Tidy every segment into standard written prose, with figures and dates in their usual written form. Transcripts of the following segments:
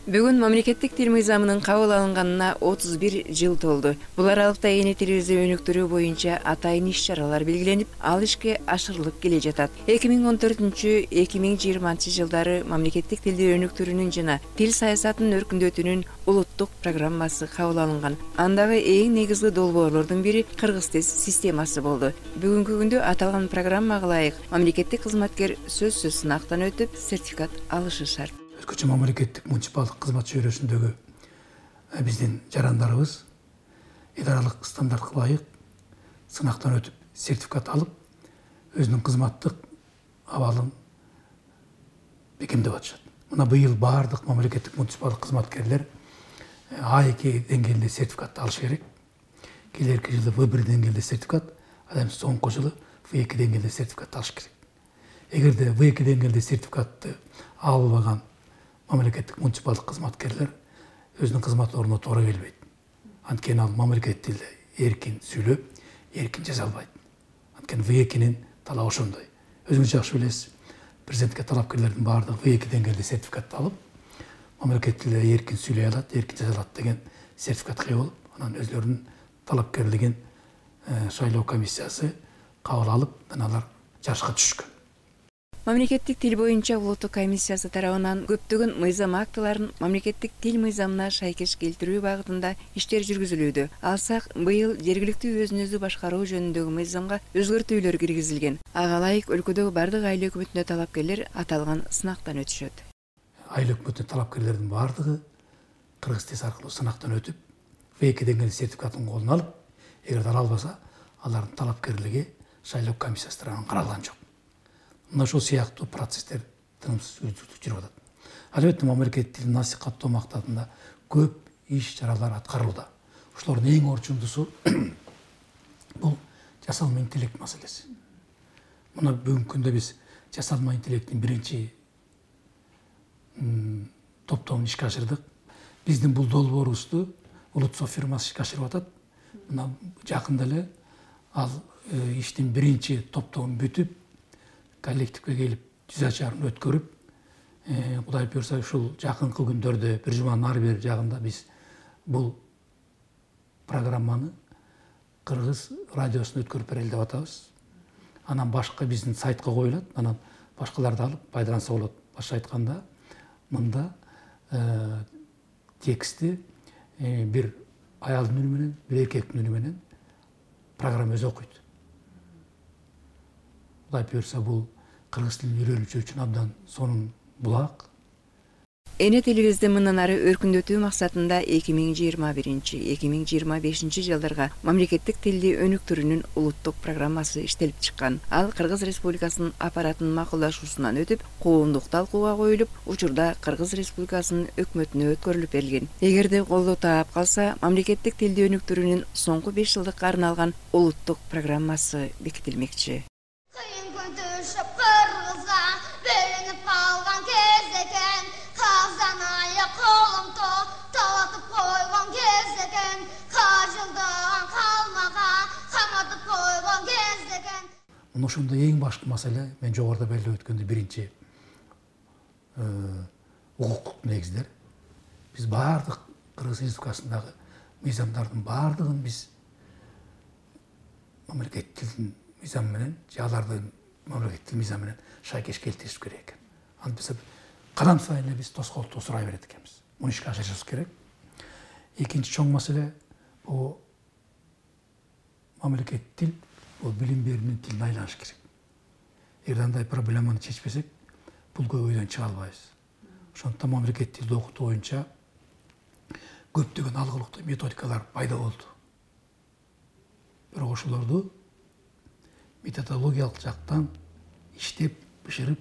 Бүгүн мамлекеттик тил мыйзамынын кабыл алынганына 31 жыл толду. Бул аралыкта эне тилибизди өнүктүрүү боюнча атайын иш-чаралар белгиленип, ал ишке ашырылып келе жатат. 2014-2020 жылдары мамлекеттик тилди өнүктүрүүнүн жана тил саясатынын өркүндөтүүнүн улуттук программасы кабыл алынган. Андагы эң негизги долбоорлордун бири кыргыз тил системасы болду. Бүгүнкү күндө аталган программага ылайык мамлекеттик кызматкер сөзсүз сынактан өтүп, сертификат алышы шарт. Өзгөчө мамлекеттик муниципалдык кызмат чөйрөсүндөгү биздин жарандарыбыз идаралык стандартка ылайык сынактан өтүп, сертификат алып, өзүнүн кызматтык абалын бекемдеп атышат. Мына быйыл баардык мамлекеттик муниципалдык кызматкерлер А2 деңгээлинде сертификатты алыш керек. Келерки жылы В1 деңгээлде сертификат, андан соңку жылы В2 деңгээлде сертификат алыш керек. Эгерде В2 деңгээлде сертификатты албаган мамлекеттик муниципалдык кызматкерлер өзүнүн кызмат ордуна туура келбейт. Анткени ал мамлекеттик тилде эркин сүйлөп, эркин жаза албайт. Анткени В2-нин талабы ошондой. Өзүңүз жакшы билесиз, президентке талапкерлердин баардыгы В2 деңгээлде сертификатты алып, мамлекеттик тилде эркин сүйлөй алат, эркин жаза алат деген сертификатка ээ болуп, анан өзлөрүнүн талапкерлигин шайлоо комиссиясы кабыл алып, алар жарышка түшкөн. Мамлекеттик тил боюнча улуттук комиссиясы тарабынан көптөгөн мыйзам актыларын мамлекеттик тил мыйзамына шайкеш келтирүү багытында иштер жүргүзүлүүдө. Алсак, быйыл жергиликтүү өзүн өзү башкаруу жөнүндөгү мыйзамга өзгөртүүлөр киргизилген. Ага ылайык өлкөдөгү бардык айыл өкмөтүнө талапкерлер аталган сынактан өтүшөт. Айыл өкмөтүнө талапкерлердин баардыгы кыргыз тилинде аркылуу сынактан өтүп, В2 деңгээлде сертификатын колуна алып, эгер ала албаса, алардын талапкерлиги шайлоо комиссиясы тарабынан каралган жок. Мына ошол сыяктуу процесстер тынымсыз жүрүп атат. Албетте мамлекеттик тилди насихаттоо максатында көп иш-чаралар аткарылууда. Ошолордун эң орчундусу бул жасалма интеллект маселеси. Мына бүгүнкү күндө биз жасалма интеллекттин биринчи топтомун ишке ашырдык. Биздин бул долбоорубузду Улутсофт фирмасы ишке ашырып атат. Мына жакында эле ал иштин биринчи топтомун бүтүп, коллективге келип, жүз ачарын өткөрүп, Кудай буйрса ушул жакынкы күндөрдө бир жуманын ар бир жагында биз бул программаны кыргыз радиосуна өткөрүп берели деп атабыз. Анан башка биздин сайтка коюлат, анан башкалар да алып пайдаланса болот. Башка айтканда, мында текстти бир аялдын үнү менен, бир эркектин үнү менен программа өзү окуйт. Кудай буйрса бул кыргыз тилин үйрөнүүчү үчүн абдан сонун булак. Эне тилибизди мындан ары өркүндөтүү максатында 2021-2025 жылдарга мамлекеттик тилди өнүктүрүүнүн улуттук программасы иштелип чыккан. Ал Кыргыз Республикасынын аппаратынын макулдашуусунан өтүп, коомдук талкууга коюлуп, учурда Кыргыз Республикасынын өкмөтүнө өткөрүлүп берилген. Эгерде колдоо таап калса, мамлекеттик тилди өнүктүрүүнүн соңку 5 жылдыкка арналган улуттук программасы бекитилмекчи. Ошондо эң башкы маселе, мен жогоруда белгилеп өткөндөй, биринчи укуктук негиздер. Биз баардык Кыргыз Республикасындагы мыйзамдардын баардыгын биз мамлекеттик тилдин мыйзамы менен, алардын мамлекеттик тил мыйзамы менен шайкеш келтириш керек экен. Антса кадам сайын эле биз тоскоолдукту сурай берет экенбиз. Муну ишке ашырышыбыз керек. Экинчи чоң маселе бул мамлекеттик тил, бул билим берүүнүн тилине айланыш керек. Эгер андай проблеманы чечпесек, бул көйгөйдөн чыга албайбыз. Ошондуктан мамлекеттик тилди окутуу боюнча көптөгөн алгылыктуу методикалар пайда болду. Бирок ошолорду методологиялык жактан иштеп, бышырып,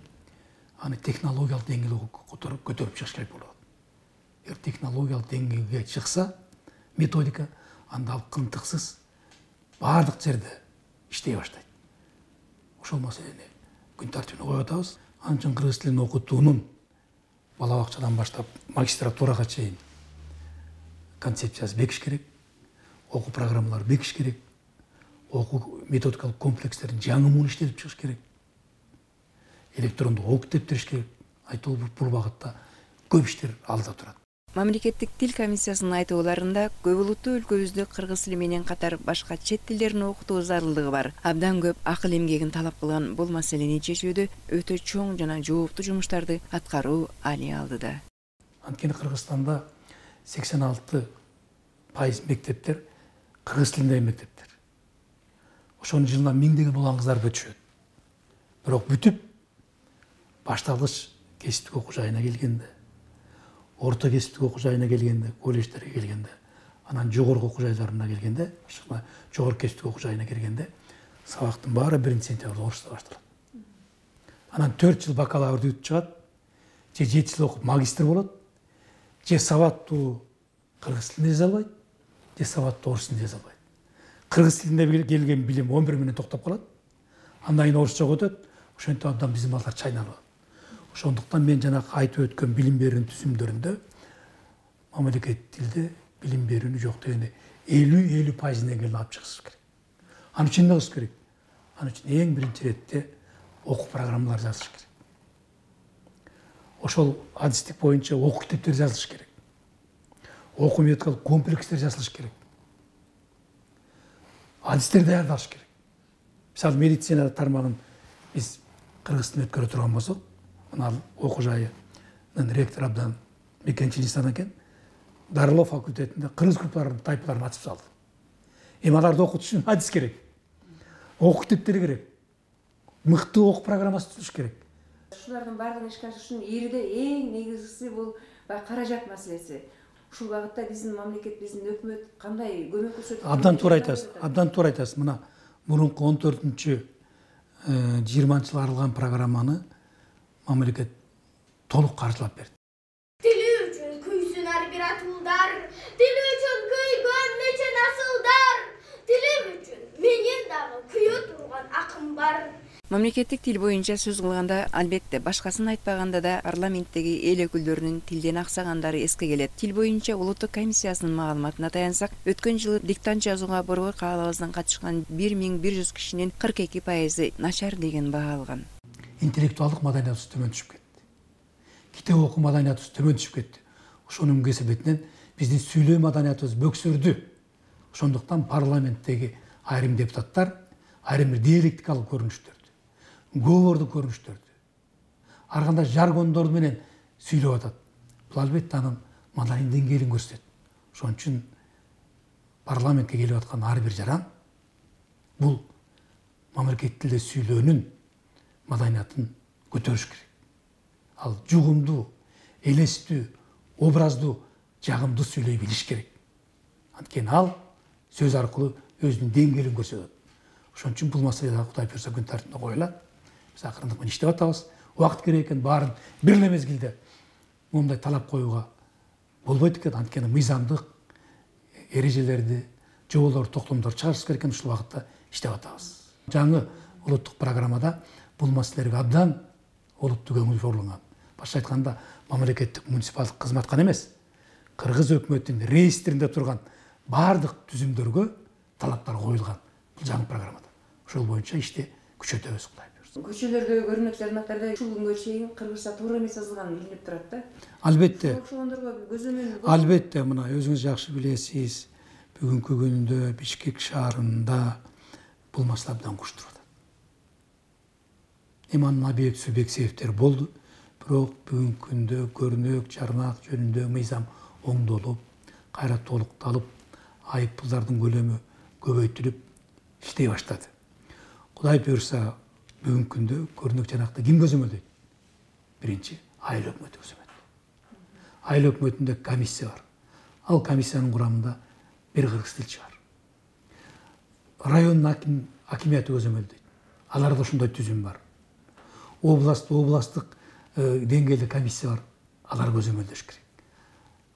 аны технологиялык деңгээлге көтөрүп чыгыш керек болот. Эгер технологиялык деңгээлге чыкса методика, анда ал кынтыксыз баардык жерде иштей баштайт. Ошол маселени күн тартибине коюп атабыз. Анын үчүн кыргыз тилин окутуунун бала бакчадан баштап магистратурага чейин концепциясы бекиш керек, окуу программалары бекиш керек, окуу методикалык комплекстерин жаңы муун иштелип чыгыш керек. электрондук окуп тептириш керек. Айтылып бул багытта көп иштер алда турат. Мамлекеттик тил комиссиясынын айтууларында көп улуттуу өлкөбүздө кыргыз тили менен катар башка чет тилдерин окутуу зарылдыгы бар. Абдан көп акыл эмгегин талап кылган бул маселени чечүүдө өтө чоң жана жооптуу жумуштарды аткаруу али алдыда. Анткени Кыргызстанда 86% мектептер кыргыз тилиндеги мектептер. Ошонун жылына миңдеген улан кыздар бүтүшөт. Бирок бүтүп башталгыч кесиптик окуу жайына келгенде, орто кесиптик окуу жайына келгенде, колледждерге келгенде, анан жогорку окуу жайларына келгенде, жогорку кесиптик окуу жайына келгенде сабактын баары 1-сентябрда орусча башталат. Анан 4 жыл бакалаврды бүтүп чыгат, же 7 жыл окуп магистр болот, же сабаттуу кыргыз тилинде жаза албайт, же сабаттуу орус тилинде жаза албайт. Кыргыз тилинде келген билим 11 менен токтоп калат. Андан кийин орусчага өтөт. Ошентип абдан биздин балдар чайналып. Ошондуктан мен жанагы айтып өткөн билим берүүнүн түзүмдөрүндө мамлекеттик тилде билим берүүнү жок дегенде 50% деңгээлине алып чыгышыбыз керек. Аны үчүн эмне кылыш керек? Аны үчүн эң биринчи иретте окуу программалар жазыш керек. Ошол адистик боюнча окуу китептер жазылыш керек. Окуу методикалык комплекстер жасалыш керек. Адистер даярдалыш керек. Мисалы медицина тармагын биз кыргыз тилинде өткөрө турган болсок, мына окуу жайынын ректору абдан мекенчил инсан экен. Дарылоо факультетинде кыргыз группаларын тайпаларын ачып салды. Эми аларды окутуш үчүн адис керек. Окуу китептери керек. Мыкты окуу программасы түзүш керек. Ушулардын баардыгын ишке ашырыш үчүн эрде эң негизгиси бул каражат маселеси. Ушул багытта биздин мамлекет, биздин өкмөт кандай көмөк көрсөтөт? Абдан туура айтасыз. Мына мурунку 14-20 жыл арылган программаны мамлекет толук каржылап берди. Тили үчүн күйсүн ар бир атуулдар, тили үчүн күйгөн нече насылдар, тили үчүн менин дагы күйө турган акым бар. Мамлекеттик тил боюнча сөз кылганда, албетте, башкасын айтпаганда да парламенттеги эл өкүлдөрүнүн тилден аксагандары эске келет. Тил боюнча улуттук комиссиясынын маалыматына таянсак, өткөн жылы диктант жазууга Борбор каалабыздан катышкан 1100 кишинин 42% начар деген баа алган. Интеллектуалдык маданиятыбыз төмөн түшүп кетти. Китеп окуу маданиятыбыз төмөн түшүп кетти. Ошонун кесебетинен биздин сүйлөө маданиятыбыз бөксөрдү. Ошондуктан парламенттеги айрым депутаттар айрым бир диалектикалык көрүнүштөрдү, говорду көрүнүштөрдү, ар кандай жаргондор менен сүйлөп атат. Бул албетте анын маданий деңгээлин көрсөтөт. Ошон үчүн парламентке келип аткан ар бир жаран бул мамлекеттик тилде сүйлөөнүн маданиятын көтөрүш керек. Ал жугумдуу, элестүү, образдуу, жагымдуу сүйлөй билиш керек. Анткени ал сөз аркылуу өзүнүн деңгээлин көрсөтөт. Ошон үчүн бул маселе Кудай буйрса күн тартибине коюлат. Биз акырындык менен иштеп атабыз. Убакыт керек экен, баарын бир эле мезгилде мондай талап коюуга болбойт экен. Анткени мыйзамдык эрежелерди, жоболорду, токтомдорду чыгарышыбыз керек экен. Ушул убакытта иштеп атабыз. Жаңы улуттук программада бул маселелерге абдан олуттуу көңүл бурулаган. Башка айтканда, мамлекеттик муниципалдык кызмат гана эмес, кыргыз өкмөтүнүн реестринде турган баардык түзүмдөргө талаптар коюлган бул жаңы программада. Ошол боюнча ишти күчөтөбүз, Кудай буйрса. Көчөлөрдө көрүнөт жарнактарда ушул күнгө чейин кыргызча туура эмес жазылган билинип турат да. Албетте. Ошондорго көзөмөл. Албетте, мына өзүңүз жакшы билесиз, бүгүнкү күндө Бишкек шаарында бул маселе абдан куштуруп атат. Эми анын объект субъект себептери болду, бирок бүгүнкү күндө көрүнөк жарнак жөнүндө мыйзам оңдолуп, кайра толукталып, айып пулдардын көлөмү көбөйтүлүп иштей баштады. Кудай буйрса, бүгүнкү күндө көрүнөк жарнакты ким көзөмөлдөйт? Биринчи, айыл өкмөтү көзөмөлдөйт. Айыл өкмөтүндө комиссия бар. Ал комиссиянын курамында бир кыргыз тилчи бар. Райондун акимияты көзөмөлдөйт. Аларда ошондой түзүм бар. Областтык деңгээлде комиссия бар. Алар көзөмөлдөш керек.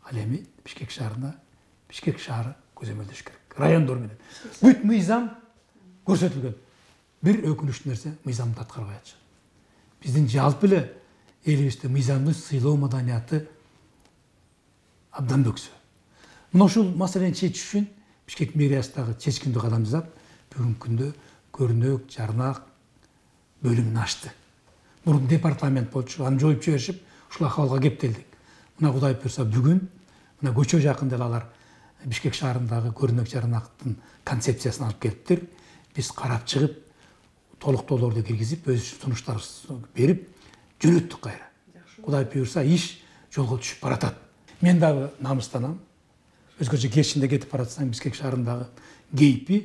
Ал эми Бишкек шаарында Бишкек шаары көзөмөлдөш керек. Райондор менен. Бүт мыйзам көрсөтүлгөн. Бир өкүнүчтүү нерсе, мыйзамды аткарбай атышат. Биздин жалпы эле элибизде мыйзамды сыйлоо маданияты абдан бөксө. Мына ушул маселени чечиш үчүн Бишкек мэриясы дагы чечкиндүү кадам жасап, бүгүнкү күндө көрүнөк жарнак бөлүмүн ачты. Мурун департамент болчу, аны жоюп жиберишип, ушул акыбалга кептелдик. Мына Кудай буйрса бүгүн мына көчө жакында эле алар Бишкек шаарындагы көрүнөк жаранактын концепциясын алып келиптир. Биз карап чыгып, толуктоолорду киргизип, өз сунуштарыбызды берип, жөнөттүк кайра. Кудай буйрса, иш жолго түшүп баратат. Мен дагы намыстанам. Өзгөчө кечинде кетип баратсаң, Бишкек шаарындагы кейпи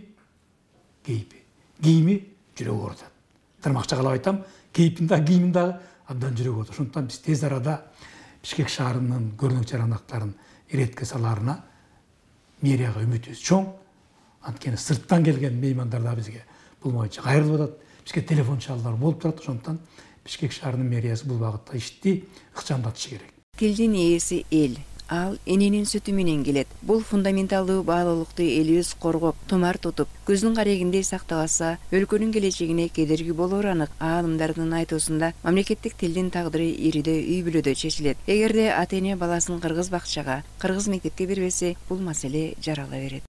кийими жүрөгү оорутат. Тырмакча кылып айтам, кейпин дагы кийимин дагы абдан жүрөгү оорутат. Ошондуктан биз тез арада Бишкек шаарынын көрүнөк жаранактарын иретке салаарына мэрияга үмүтүбүз чоң. Анткени сырттан келген меймандар да бизге бул боюнча кайрылып атат. Бизге телефон чалуулар болуп турат. Ошондуктан Бишкек шаарынын мэриясы бул багытта ишти ыкчамдатышы керек. Тилдин ээси эл. Ал эненин сүтү менен келет. Бул фундаменталдуу баалуулукту элибиз коргоп, тумар тутуп, көздүн карегиндей сактабаса, өлкөнүн келечегине кедерги болоору анык. Аалымдардын айтуусунда мамлекеттик тилдин тагдыры иридө үй бүлөдө чечилет. Эгерде ата-эне баласын кыргыз бакчага, кыргыз мектепке бербесе, бул маселе жарала берет.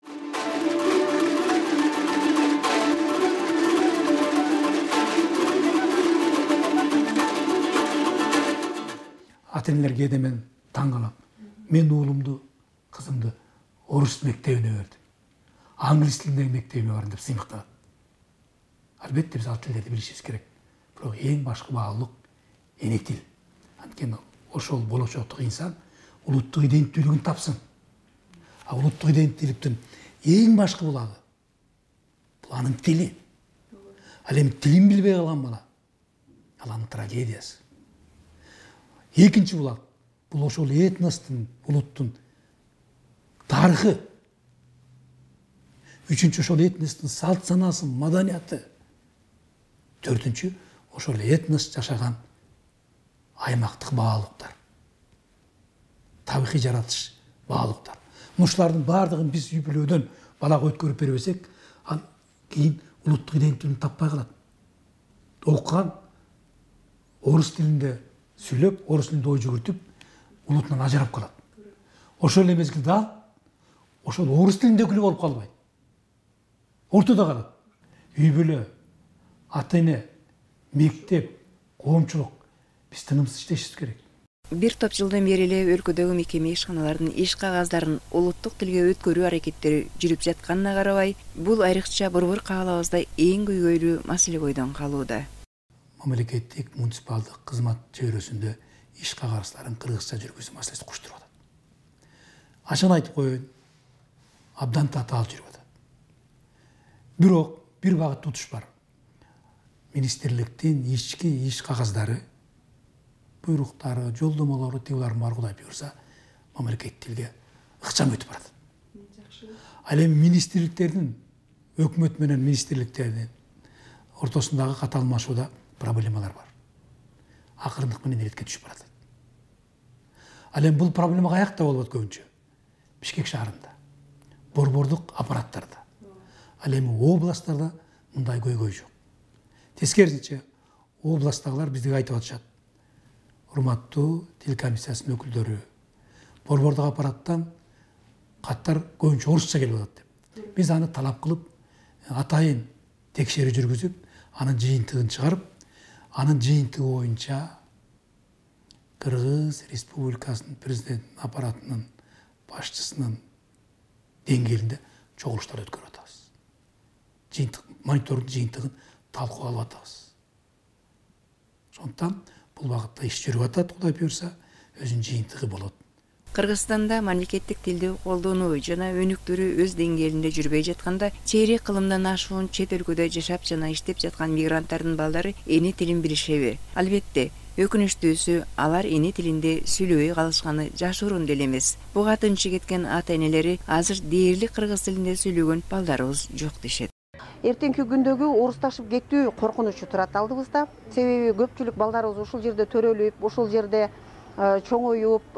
Ата-энелер кээде мен таң калам. Мен уулумду, кызымды орус мектебине бердим. Англис тилиндеги мектебине бардым деп сыймыктанат. Албетте биз ал тилдерди билишибиз керек. Бирок эң башкы баалуулук эне тил. Анткени ошол болочоктук инсан улуттук иденттүүлүгүн тапсын. А улуттук иденттүүлүктүн эң башкы булагы бул анын тили. Ал эми тилин билбей калган бала ал анын трагедиясы. Экинчи булак бул ошол этностун, улуттун тарыхы. Үчүнчү ошол этностун салт санасы, маданияты. Төртүнчү ошол этнос жашаган аймактык баалуулуктар. Табигый жаратылыш баалуулуктар. Ушулардын баардыгын биз үй бүлөдөн балага өткөрүп бербесек, ал кийин улуттук иденттүүлүгүн таппай калат. Окуган орус тилинде сүйлөп, орус тилинде ой жүгүртүп, улутунан ажырап калат. Ошол эле мезгилде ал ошол орус тилиндегиле болуп калбайт. Ортодо калат. Үй бүлө, ата-эне, мектеп, коомчулук биз тынымсыз иштешибиз керек. Бир топ жылдан бери эле өлкөдөгү мекеме ишканалардын иш кагаздарын улуттук тилге өткөрүү аракеттери жүрүп жатканына карабай, бул айрыкча борбор каалабызда эң көйгөйлүү маселе бойдон калууда. Мамлекеттик муниципалдык кызмат чөйрөсүндө иш кагарыздарын кыргызча жүргүзүү маселеси куштуруп атат. Ачыгын айтып коеюн, абдан татаал жүрүп атат. Бирок бир багыт тутуш бар. Министрликтин ички иш кагаздары, буйруктары, жолдомолору, тигулар бар, Кудай буйрса, мамлекеттик тилге ыкчам өтүп барат. Ал эми министрликтердин, өкмөт менен министрликтердин ортосундагы кат алмашууда проблемалар бар. Акырындык менен иретке түшүп барат. Ал эми бул проблема каякта болот көбүнчө? Бишкек шаарында, борбордук аппараттарда. Ал эми областтарда мындай көйгөй жок. Тескерисинче, областтагылар бизге айтып атышат. Урматтуу тил комиссиясынын өкүлдөрү, борбордук аппараттан каттар көбүнчө орусча келип атат деп. Биз аны талап кылып, атайын текшерүү жүргүзүп, анын жыйынтыгын чыгарып, анын жыйынтыгы боюнча Кыргыз Республикасынын президенттин аппаратынын башчысынын деңгээлинде чогулуштар өткөрүп атабыз. Жыйынтык, монитордун жыйынтыгын талкууга алып атабыз. Ошондуктан бул багытта иш жүрүп атат, Кудай буйрса, өзүнүн жыйынтыгы болот. Кыргызстанда мамлекеттик тилди колдонуу жана өнүктүрүү өз деңгээлинде жүрбөй жатканда, чейрек кылымдан ашуун чет өлкөдө жашап жана иштеп жаткан мигранттардын балдары эне тилин билишеби? Албетте, өкүнүчтүүсү алар эне тилинде сүйлөбөй калышканы жашыруун деле эмес. Буга тынчы кеткен ата-энелери азыр дээрлик кыргыз тилинде сүйлөгөн балдарыбыз жок дешет. Эртеңки күндөгү орусташып кетүү коркунучу турат алдыбызда. Себеби көпчүлүк балдарыбыз ушул жерде төрөлүп, ушул жерде чоңоюп,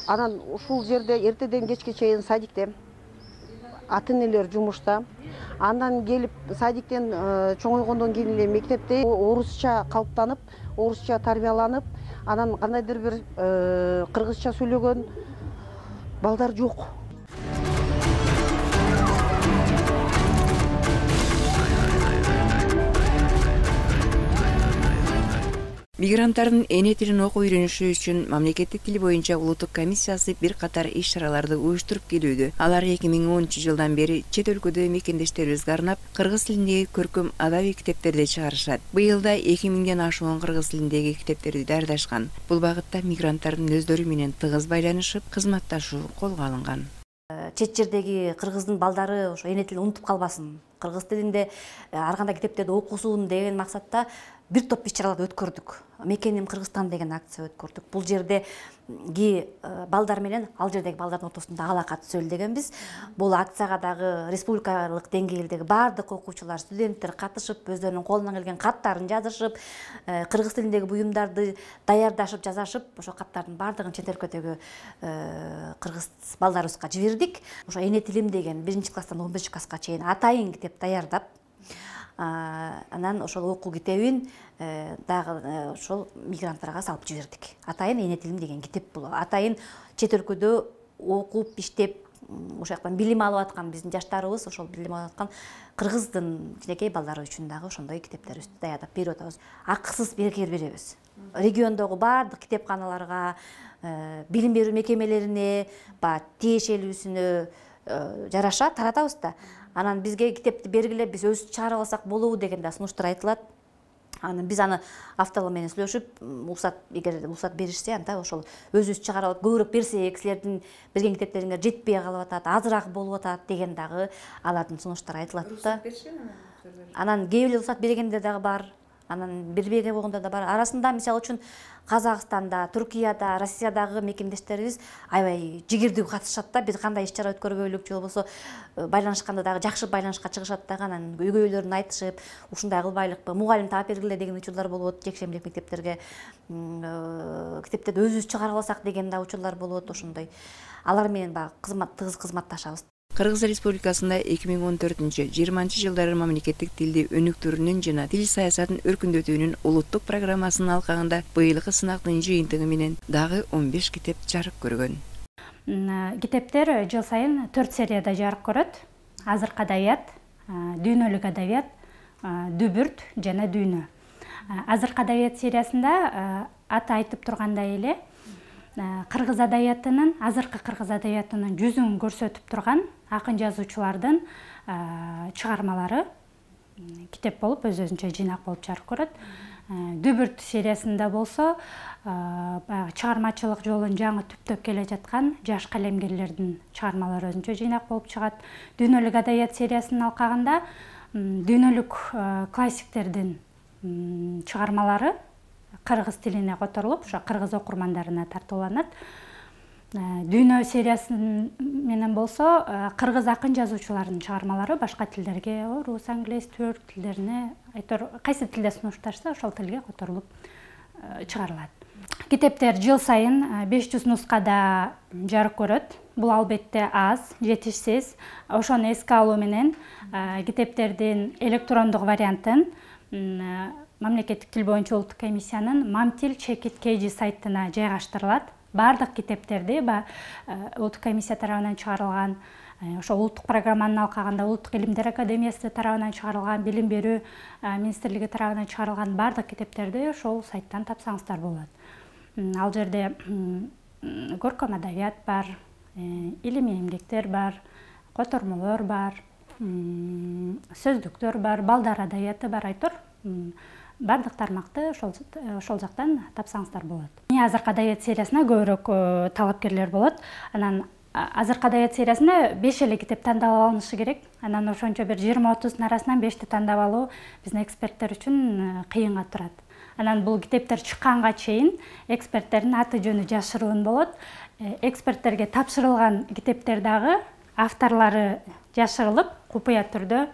анан ушул жерде эртеден кечке чейин садикте, ата-энелер жумушта. Андан келип садиктен чоңойгондон кийин эле мектепте орусча калыптанып, орусча тарбияланып, анан кандайдыр бир кыргызча сүйлөгөн балдар жок. Мигранттардын эне тилин окуп үйрөнүшү үчүн мамлекеттик тил боюнча улуттук комиссиясы бир катар иш-чараларды уюштуруп келүүдө. Алар 2010-жылдан бери чет өлкөдө мекендештерибизге арнап кыргыз тилиндеги көркөм адаби китептерди чыгарышат. Быйыл да 2000ден ашуун кыргыз тилиндеги китептерди даярдашкан. Бул багытта мигранттардын өздөрү менен тыгыз байланышып, кызматташуу колго алынган. Чет жердеги кыргыздын балдары ошо эне тилин унутуп калбасын, кыргыз тилинде ар кандай китептерди окусун деген максатта бир топ иш-чараларды өткөрдүк. Мекеним Кыргызстан деген акция өткөрдүк. Бул жердеги балдар менен ал жердеги балдардын ортосунда алака түзөлү дегенбиз. Бул акцияга дагы республикалык деңгээлдеги баардык окуучулар, студенттер катышып, өздөрүнүн колунан келген каттарын жазышып, кыргыз тилиндеги буюмдарды даярдашып, жазышып, ошо каттардын баардыгын чет өлкөдөгү кыргыз балдарыбызга жибердик. Ошо эне тилим деген 1-класстан 15-класска чейин атайын китеп даярдап, анан ошол окуу китебин дагы ошол мигранттарга салып жибердик. Атайын эне тилим деген китеп бул. Атайын чет өлкөдө окуп, иштеп, ошол жактан билим алып аткан биздин жаштарыбыз, ошол билим алып аткан кыргыздын кичинекей балдары үчүн дагы ошондой китептерибизди даярдап берип атабыз. Акысыз бекер беребиз. Региондогу баардык китепканаларга, билим берүү мекемелерине, тиешелүүсүнө жараша таратабыз да. Анан бизге китепти бергиле, биз өзүбүз чыгарып алсак болобу деген да сунуштар айтылат. Анан биз аны авторлор менен сүйлөшүп, эгер уруксат беришсе, анда ошол өзүбүз чыгарып алып көбүрөөк берсек, силердин берген китептериңер жетпей калып атат, азыраак болуп атат деген дагы алардын сунуштары айтылат да. Анан кээ бирөө уруксат бергендер дагы бар. Анан бербеген болгондор да бар. Арасында мисалы үчүн Казакстанда, Түркияда, Россиядагы мекендештерибиз аябай жигердүү катышат да. Бир кандай иш-чара өткөрбөйлүк же болбосо байланышканда дагы жакшы байланышка чыгышат дагы. Анан өгөйлөрүн айтышып, ушундай кылбайлыкпы, мугалим таап бергиле деген учурлар болот. Жекшембилик мектептерге китептерди өзүбүз чыгарып алсак деген да учурлар болот. Ошондой алар менен багы тыгыз кызматташабыз. Кыргыз Республикасында 2014-20 жылдары мамлекеттик тилди өнүктүрүүнүн жана тил саясатын өркүндөтүүнүн улуттук программасынын алкагында быйылкы сынактын жыйынтыгы менен дагы 15 китеп жарык көргөн. Китептер жыл сайын 4 серияда жарык көрөт. Азыркы адабият, дүйнөлүк адабият, дүбүрт жана дүйнө. Азыркы адабият сериясында аты айтып тургандай эле кыргыз адабиятынын, азыркы кыргыз адабиятынын жүзүн көрсөтүп турган акын жазуучулардын чыгармалары китеп болуп, өз-өзүнчө жыйнак болуп жарык көрөт. Дүбүрт сериясында болсо, чыгармачылык жолун жаңы түптөп келе жаткан жаш калемгерлердин чыгармалары өзүнчө жыйнак болуп чыгат. Дүйнөлүк адабият сериясынын алкагында дүйнөлүк классиктердин чыгармалары кыргыз тилине которулуп, ошо кыргыз окурмандарына тартууланат. Дүйнө сериясы менен болсо, кыргыз акын жазуучулардын чыгармалары башка тилдерге, орус, англис, түрк тилдерине, кайсы тилде сунушташса, ошол тилге которулуп чыгарылат. Китептер жыл сайын 500 нускада жарык көрөт. Бул албетте аз, жетишсиз. Ошону эске алуу менен китептердин электрондук вариантын мамлекеттик тил боюнча улуттук комиссиянын Мамтил Чекит KG сайтына жайгаштырылат. Бардык китептерди улуттук комиссия тарабынан чыгарылган, ошо улуттук программанын алкагында улуттук илимдер академиясы тарабынан чыгарылган, билим берүү министрлиги тарабынан чыгарылган бардык китептерди ошол сайттан тапсаңыздар болот. Ал жерде көркөм адабият бар, илимий эмгектер бар, котормолор бар, сөздүктөр бар, балдар адабияты бар, айтор. Бардык тармакты ошол жактан тапсаңыздар болот. Азыркы адабият сериясына көбүрөөк талапкерлер болот. Анан азыркы адабият сериясында 5 эле китеп тандалып алынышы керек. Анан ошончо бир 20-30 арасынан 5ти тандап алуу биздин эксперттер үчүн кыйынга турат. Анан бул китептер чыкканга чейин эксперттердин аты жөнү жашыруун болот. Эксперттерге тапшырылган китептер дагы авторлору жашырылып, купуя түрдө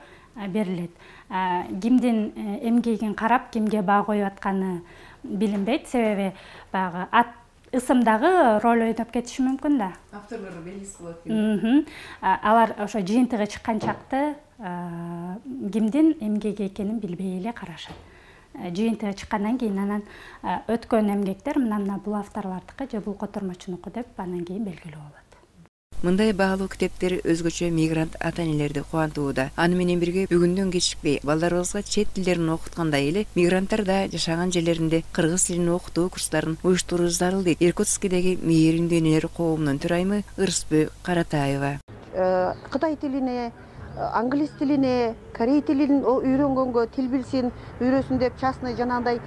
берилет. Кимдин эмгегин карап, кимге баа коюп атканы билинбейт, себеби баягы ысымдагы роль ойноп кетиши мүмкүн да. Авторлору белгисиз болот. Алар ошо жыйынтыгы чыккан чакты кимдин эмгеги экенин билбей эле карашат. Жыйынтыгы чыккандан кийин анан өткөн эмгектер мына бул авторлордуку же бул котормочунуку деп анан кийин белгилүү болот. Мындай баалуу китептер өзгөчө мигрант ата-энелерди кубантууда. Аны менен бирге бүгүндөн кечикпей балдарыбызга чет тилдерин окуткандай эле мигранттар да жашаган жерлеринде кыргыз тилин окутуу курстарын уюштуруу зарыл дейт Иркутскидеги Мээримдүү энелер коомунун төрайымы Ырысбү Каратаева. Кытай тилине, англис тилине, корей тилин үйрөнгөнгө, тил билсин, үйрөсүн деп частный жанагындай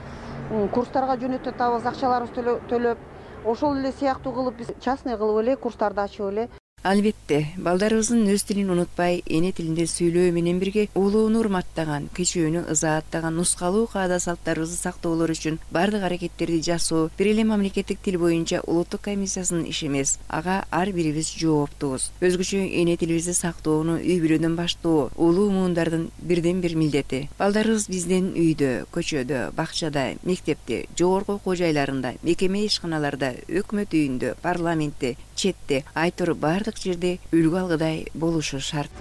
курстарга жөнөтүп атабыз, акчаларыбызды төлөп. Ошол эле сыяктуу кылып биз частный кылып эле курстарды ачып эле. Албетте, балдарыбыздын өз тилин унутпай, эне тилинде сүйлөө менен бирге улууну урматтаган, кичүүнү ызааттаган нускалуу каада салттарыбызды сактоолор үчүн бардык аракеттерди жасоо бир эле мамлекеттик тил боюнча улуттук комиссиясынын иши эмес. Ага ар бирибиз жооптубуз. Өзгөчө эне тилибизди сактоону үй бүлөдөн баштоо улуу муундардын бирден бир милдети. Балдарыбыз бизден үйдө, көчөдө, бакчада, мектепте, жогорку окуу жайларында, мекеме ишканаларда, өкмөт үйүндө, парламентте, четте, айтор бардык жерде үлгү алгыдай болушу шарт.